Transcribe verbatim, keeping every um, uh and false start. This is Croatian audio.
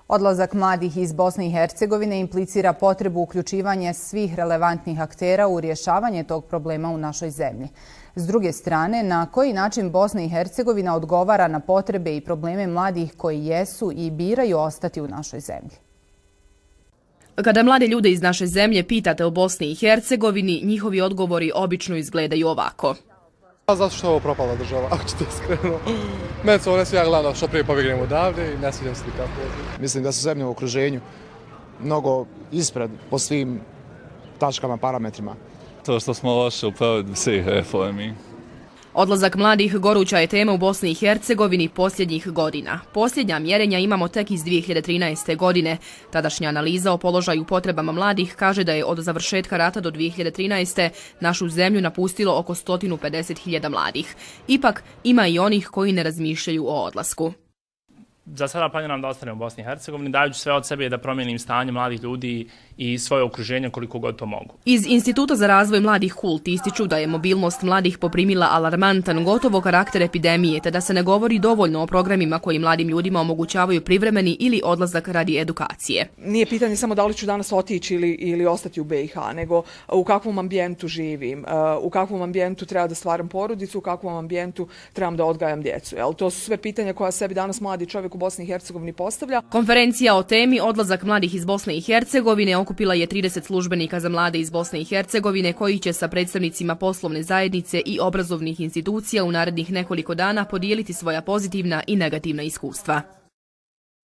Odlazak mladih iz Bosne i Hercegovine implicira potrebu uključivanja svih relevantnih aktera u rješavanje tog problema u našoj zemlji. S druge strane, na koji način Bosna i Hercegovina odgovara na potrebe i probleme mladih koji jesu i biraju ostati u našoj zemlji? Kada mlade ljude iz naše zemlje pitate o Bosni i Hercegovini, njihovi odgovori obično izgledaju ovako. Zato što je ovo propala država, ako ćete iskreno. Meni se ovo ne svija glavno što prije pobjegnemo odavde i ne sviđam se nikako. Mislim da su zemlje u okruženju mnogo ispred po svim tačkama, parametrima. To što smo loše u provedbi svih reformi. Odlazak mladih goruća je tema u Bosni i Hercegovini posljednjih godina. Posljednja mjerenja imamo tek iz dvije hiljade trinaeste. godine. Tadašnja analiza o položaju potrebama mladih kaže da je od završetka rata do dvije hiljade trinaeste. našu zemlju napustilo oko sto pedeset hiljada mladih. Ipak ima i onih koji ne razmišljaju o odlasku. Za sada planiram da ostanem u Bosni i Hercegovini, dajući sve od sebe da promijenim stanje mladih ljudi i svoje okruženje koliko god to mogu. Iz Instituta za razvoj mladih Hult ističu da je mobilnost mladih poprimila alarmantan, gotovo karakter epidemije, te da se ne govori dovoljno o programima koji mladim ljudima omogućavaju privremeni ili odlazak radi edukacije. Nije pitanje samo da li ću danas otići ili, ili ostati u be i ha, nego u kakvom ambijentu živim, u kakvom ambijentu treba da stvaram porodicu, u kakvom ambijentu trebam da odgajam djecu. Jel? To su sve pitanja koja sebi danas mladi čovjek u Bosni i Hercegovini postavlja. Konferencija o temi Odlazak mladih iz Bosne i Hercegovine okupila je trideset službenika za mlade iz Bosne i Hercegovine koji će sa predstavnicima poslovne zajednice i obrazovnih institucija u narednih nekoliko dana podijeliti svoja pozitivna i negativna iskustva.